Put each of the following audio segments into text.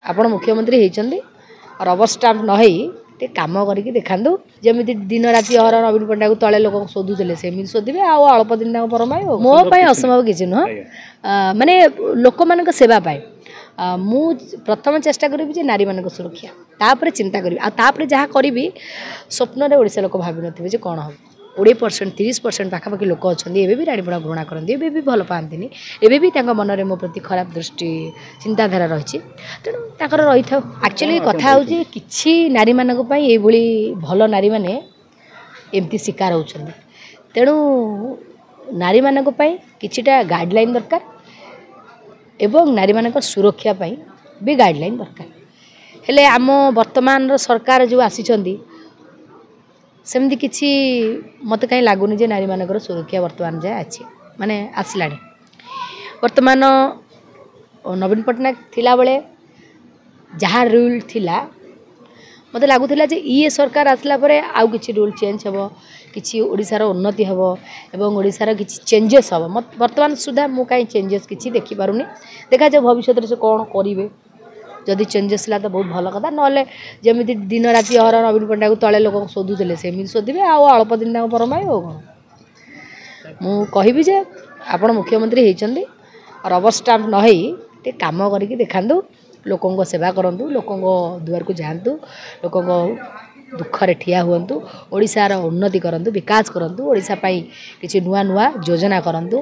ଆପଣ ମୁଖ୍ୟମନ୍ତ୍ରୀ ହେଇଛନ୍ତି, ରବର ଷ୍ଟାମ୍ପ ନ ହେଇ ଟିକେ କାମ କରିକି ଦେଖାନ୍ତୁ। ଯେମିତି ଦିନ ରାତି ଅହର ନବୀନ ପଟ୍ଟନାୟକକୁ ତଳେ ଲୋକ ଶୋଧୁଥିଲେ, ସେମିତି ଶୋଧିବେ, ଆଉ ଅଳ୍ପ ଦିନ ତାଙ୍କ ପରମ ପାଇବ। ମୋ ପାଇଁ ଅସମ୍ଭବ କିଛି ନୁହଁ, ମାନେ ଲୋକମାନଙ୍କ ସେବା ପାଇଁ ମୁଁ ପ୍ରଥମେ ଚେଷ୍ଟା କରିବି ଯେ ନାରୀମାନଙ୍କ ସୁରକ୍ଷା, ତାପରେ ଚିନ୍ତା କରିବି, ଆଉ ତାପରେ ଯାହା କରିବି ସ୍ୱପ୍ନରେ ଓଡ଼ିଶା ଲୋକ ଭାବିନଥିବେ ଯେ କ'ଣ ହେବ। 20% 30% ପାଖାପାଖି ଲୋକ ଅଛନ୍ତି ଏବେ ବି ରାଣୀପଡ଼ା ଘୃଣା କରନ୍ତି, ଏବେ ବି ଭଲ ପାଆନ୍ତିନି, ଏବେ ବି ତାଙ୍କ ମନରେ ମୋ ପ୍ରତି ଖରାପ ଦୃଷ୍ଟି ଚିନ୍ତାଧାରା ରହିଛି, ତେଣୁ ତାଙ୍କର ରହିଥାଉ। ଆକ୍ଚୁଆଲି କଥା ହେଉଛି କିଛି ନାରୀମାନଙ୍କ ପାଇଁ ଏଇଭଳି ଭଲ ନାରୀମାନେ ଏମିତି ଶିକାର ହେଉଛନ୍ତି। ତେଣୁ ନାରୀମାନଙ୍କ ପାଇଁ କିଛିଟା ଗାଇଡ଼ଲାଇନ୍ ଦରକାର ଏବଂ ନାରୀମାନଙ୍କ ସୁରକ୍ଷା ପାଇଁ ବି ଗାଇଡ଼ଲାଇନ୍ ଦରକାର। ହେଲେ ଆମ ବର୍ତ୍ତମାନର ସରକାର ଯେଉଁ ଆସିଛନ୍ତି ସେମିତି କିଛି ମୋତେ କାହିଁ ଲାଗୁନି ଯେ ନାରୀମାନଙ୍କର ସୁରକ୍ଷା ବର୍ତ୍ତମାନ ଯାଏ ଅଛି, ମାନେ ଆସିଲାଣି। ବର୍ତ୍ତମାନ ନବୀନ ପଟ୍ଟନାୟକ ଥିଲାବେଳେ ଯାହା ରୁଲ୍ ଥିଲା, ମୋତେ ଲାଗୁଥିଲା ଯେ ଇଏ ସରକାର ଆସିଲା ପରେ ଆଉ କିଛି ରୁଲ୍ ଚେଞ୍ଜ ହେବ, କିଛି ଓଡ଼ିଶାର ଉନ୍ନତି ହେବ ଏବଂ ଓଡ଼ିଶାର କିଛି ଚେଞ୍ଜେସ୍ ହେବ। ବର୍ତ୍ତମାନ ସୁଦ୍ଧା ମୁଁ କାହିଁ ଚେଞ୍ଜେସ୍ କିଛି ଦେଖିପାରୁନି। ଦେଖାଯାଉ ଭବିଷ୍ୟତରେ ସେ କ'ଣ କରିବେ। ଯଦି ଚେଞ୍ଜେସ୍ ହେଲା ତ ବହୁତ ଭଲ କଥା, ନହେଲେ ଯେମିତି ଦିନ ରାତି ଅହର ନବୀନ ପଟ୍ଟନାୟକକୁ ତଳେ ଲୋକ ଶୋଧୁଥିଲେ ସେମିତି ଶୋଧିବେ, ଆଉ ଅଳ୍ପ ଦିନ ତାଙ୍କ ପରମ ପାଇବ। ଆଉ କ'ଣ ମୁଁ କହିବି ଯେ ଆପଣ ମୁଖ୍ୟମନ୍ତ୍ରୀ ହେଇଛନ୍ତି, ରବର ଷ୍ଟାମ୍ପ ନ ହେଇ ଟିକେ କାମ କରିକି ଦେଖାନ୍ତୁ, ଲୋକଙ୍କ ସେବା କରନ୍ତୁ, ଲୋକଙ୍କ ଦୁଆରକୁ ଯାଆନ୍ତୁ, ଲୋକଙ୍କ ଦୁଃଖରେ ଠିଆ ହୁଅନ୍ତୁ, ଓଡ଼ିଶାର ଉନ୍ନତି କରନ୍ତୁ, ବିକାଶ କରନ୍ତୁ, ଓଡ଼ିଶା ପାଇଁ କିଛି ନୂଆ ନୂଆ ଯୋଜନା କରନ୍ତୁ,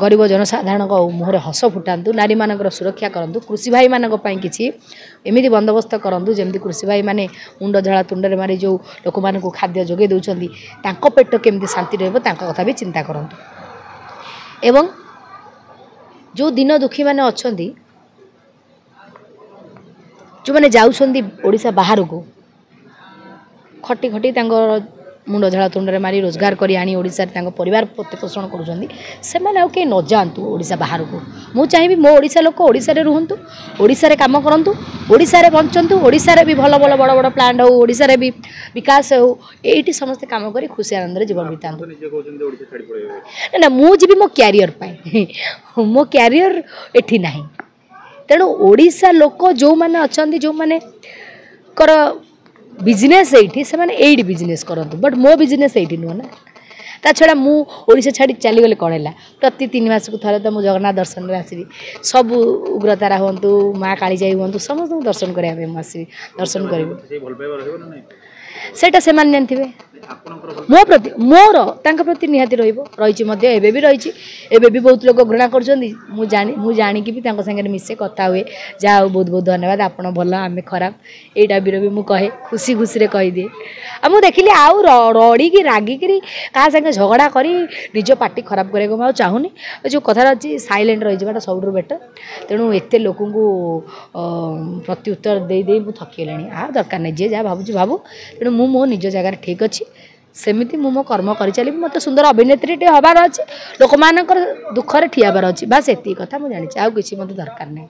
ଗରିବ ଜନସାଧାରଣଙ୍କ ମୁହଁରେ ହସ ଫୁଟାନ୍ତୁ, ନାରୀମାନଙ୍କର ସୁରକ୍ଷା କରନ୍ତୁ, କୃଷି ଭାଇମାନଙ୍କ ପାଇଁ କିଛି ଏମିତି ବନ୍ଦୋବସ୍ତ କରନ୍ତୁ ଯେମିତି କୃଷି ଭାଇମାନେ ମୁଣ୍ଡ ଝାଳ ତୁଣ୍ଡରେ ମାରି ଯେଉଁ ଲୋକମାନଙ୍କୁ ଖାଦ୍ୟ ଯୋଗାଇ ଦେଉଛନ୍ତି ତାଙ୍କ ପେଟ କେମିତି ଶାନ୍ତି ରହିବ ତାଙ୍କ କଥା ବି ଚିନ୍ତା କରନ୍ତୁ। ଏବଂ ଯେଉଁ ଦିନ ଦୁଃଖୀମାନେ ଅଛନ୍ତି, ଯେଉଁମାନେ ଯାଉଛନ୍ତି ଓଡ଼ିଶା ବାହାରକୁ ଖଟି ଖଟି ତାଙ୍କର ମୁଣ୍ଡ ଝାଳ ତୁଣ୍ଡରେ ମାରି ରୋଜଗାର କରି ଆଣି ଓଡ଼ିଶାରେ ତାଙ୍କ ପରିବାର ପ୍ରତିପୋଷଣ କରୁଛନ୍ତି, ସେମାନେ ଆଉ କେହି ନଯାଆନ୍ତୁ ଓଡ଼ିଶା ବାହାରକୁ। ମୁଁ ଚାହିଁବି ମୋ ଓଡ଼ିଶା ଲୋକ ଓଡ଼ିଶାରେ ରୁହନ୍ତୁ, ଓଡ଼ିଶାରେ କାମ କରନ୍ତୁ, ଓଡ଼ିଶାରେ ବଞ୍ଚନ୍ତୁ, ଓଡ଼ିଶାରେ ବି ଭଲ ଭଲ ବଡ଼ ବଡ଼ ପ୍ଲାଣ୍ଟ ହେଉ, ଓଡ଼ିଶାରେ ବି ବିକାଶ ହେଉ, ଏଇଠି ସମସ୍ତେ କାମ କରି ଖୁସି ଆନନ୍ଦରେ ଜୀବନ ବିତାନ୍ତୁ। ନା, ମୁଁ ଯିବି ମୋ କ୍ୟାରିୟର ପାଇଁ, ମୋ କ୍ୟାରିୟର ଏଠି ନାହିଁ। ତେଣୁ ଓଡ଼ିଶା ଲୋକ ଯେଉଁମାନେ ଅଛନ୍ତି, ଯେଉଁମାନଙ୍କର ବିଜନେସ୍ ଏଇଠି, ସେମାନେ ଏଇଠି ବିଜନେସ୍ କରନ୍ତୁ, ବଟ୍ ମୋ ବିଜନେସ୍ ଏଇଠି ନୁହଁ ନା। ତା ଛଡ଼ା ମୁଁ ଓଡ଼ିଶା ଛାଡ଼ି ଚାଲିଗଲେ କ'ଣ ହେଲା? ପ୍ରତି 3 ମାସକୁ ଥରେ ତ ମୁଁ ଜଗନ୍ନାଥ ଦର୍ଶନରେ ଆସିବି, ସବୁ ଉଗ୍ରତାରା ହୁଅନ୍ତୁ, ମା କାଳିଜାଇ ହୁଅନ୍ତୁ, ସମସ୍ତଙ୍କୁ ଦର୍ଶନ କରିବା ପାଇଁ ମୁଁ ଆସିବି, ଦର୍ଶନ କରିବି। ସେଇଟା ସେମାନେ ଜାଣିଥିବେ। ମୋ ପ୍ରତି, ମୋର ତାଙ୍କ ପ୍ରତି ନିହାତି ରହିବ, ରହିଛି ମଧ୍ୟ, ଏବେ ବି ରହିଛି। ଏବେ ବି ବହୁତ ଲୋକ ଘୃଣା କରୁଛନ୍ତି, ମୁଁ ଜାଣିକି ବି ତାଙ୍କ ସାଙ୍ଗରେ ମିଶେ, କଥା ହୁଏ। ଯାହା ହଉ, ବହୁତ ବହୁତ ଧନ୍ୟବାଦ, ଆପଣ ଭଲ ଆମେ ଖରାପ, ଏଇଟା ବିର ବି ମୁଁ କହେ, ଖୁସି ଖୁସିରେ କହିଦିଏ। ଆଉ ମୁଁ ଦେଖିଲି ଆଉ ରଡ଼ିକି ରାଗିକିରି କାହା ସାଙ୍ଗେ ଝଗଡ଼ା କରି ନିଜ ପାଟି ଖରାପ କରିବାକୁ ମୁଁ ଆଉ ଚାହୁଁନି। ଯେଉଁ କଥାଟା ଅଛି, ସାଇଲେଣ୍ଟ ରହିଯିବାଟା ସବୁଠୁ ବେଟର୍। ତେଣୁ ଏତେ ଲୋକଙ୍କୁ ପ୍ରତ୍ୟୁତ୍ତର ଦେଇ ଦେଇ ମୁଁ ଥକିଗଲିଣି, ଆଉ ଦରକାର ନାହିଁ, ଯିଏ ଯାହା ଭାବୁଛି ଭାବୁ। ତେଣୁ ମୁଁ ମୋ ନିଜ ଜାଗାରେ ଠିକ୍ ଅଛି, ସେମିତି ମୁଁ ମୋ କର୍ମ କରିଚାଲିବି। ମୋତେ ସୁନ୍ଦର ଅଭିନେତ୍ରୀଟେ ହେବାର ଅଛି, ଲୋକମାନଙ୍କର ଦୁଃଖରେ ଠିଆ ହେବାର ଅଛି, ବାସ୍ ଏତିକି କଥା ମୁଁ ଜାଣିଛି, ଆଉ କିଛି ମୋତେ ଦରକାର ନାହିଁ।